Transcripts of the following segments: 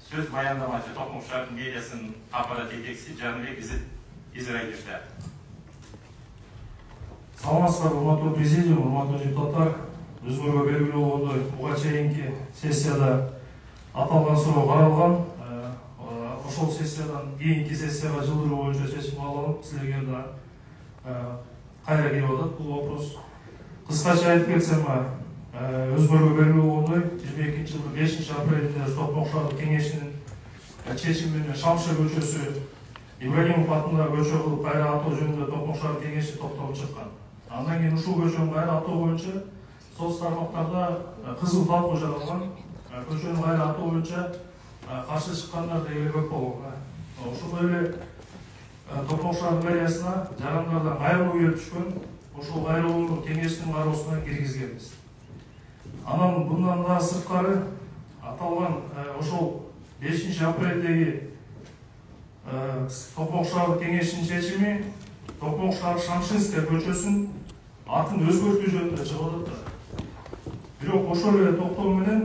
Söz баяндамачы Токтом шаардын медиасынын аппарат жетекчиси Жаныбек Израилевде. Саламатсыздарбы, урматтуу президиум, урматтуу депутаттар. Өзүңөргө белгилүү болгондой, буга чейинки сессияда аталган суроо каралган. Ошол сессиядан кийинки сессияга жылдыруу боюнча чечим кабыл алынып, силерге да кайра келип атат бул вопрос. Кыскача айтып кетсем, өзүңөргө белгилүү болгондой, 22-жылдын 5-апрелинде Токтом шаардык кеңешинин чечими менен Шамшыр көчөсү Ибрагимов атындагы көчө кылып кайра атоо жөнүндө Токтом шаардык кеңеши токтолуп чыккан. Андан кийин ушул көчөнү кайра атоо боюнча соц тармактарда кызыл талкуу жаралган. Көчөнү кайра атоо боюнча каршы чыккандар дегеле көп болгон. Ошондой эле Токтом шаардык мэриясына жарандардан кайрылуу келип түшкөн. Ошол кайрылууну кеңештин кароосуна киргизгенбиз. Анан bundan да сырткары аталган ошол 5-апрелдеги Токтом шаардык кеңешинин чечими Токтом шаардык Шамшинская көчөсүн атын өзгөртүү жөнүндө чыгып атат. Бирок ошол эле токтом менен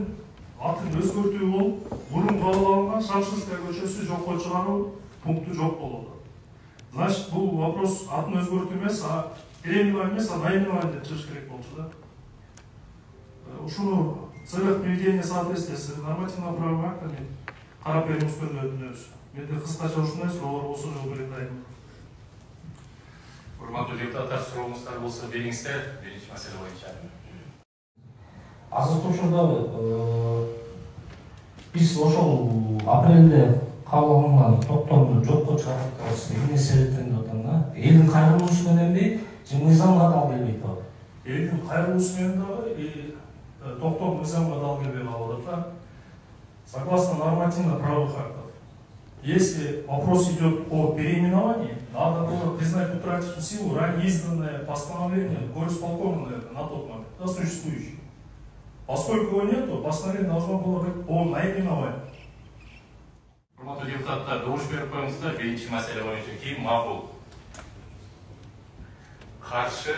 атын өзгөртүү болуп, мурун кабыл алынган Шамшинская көчөсү жокко чыгаруу пункту жок болуп атат. Значит, бул вопрос атын өзгөртүү эмес, переименование эмес, наименование деп чыгыш керек болчу да. Ушуну в целях приведения соответствия с нормативно-правовыми актами карап берүүңүздөрдү өтүнөбүз. Менде кыскача ушундай суроолор болсо жооп берет дайым. Урматтуу депутаттар, сурооңуздар болсо бериңиздер. Биринчи маселе боюнча. Азыркы учурда биз ошол апрелде кабыл алынган токтомду жокко чыгарабыз. Эмне себептен деп атам да? Элдин кайрылуусу мененби, же мыйзамга дал келбей атат? Элдин кайрылуусу менен дагы токтом мыйзамга дал келбей калып атат. Согласно нормативно-правовых актов, если вопрос идет о переименовании, надо было признать утратившим силу ранее изданное постановление горисполкома, наверное, на тот момент, да, существующее. Поскольку его нету, постановление должно было быть о наименовании. Урматтуу депутаттар, добуш берип коюңуздар. Биринчи маселе боюнча ким макул? Каршы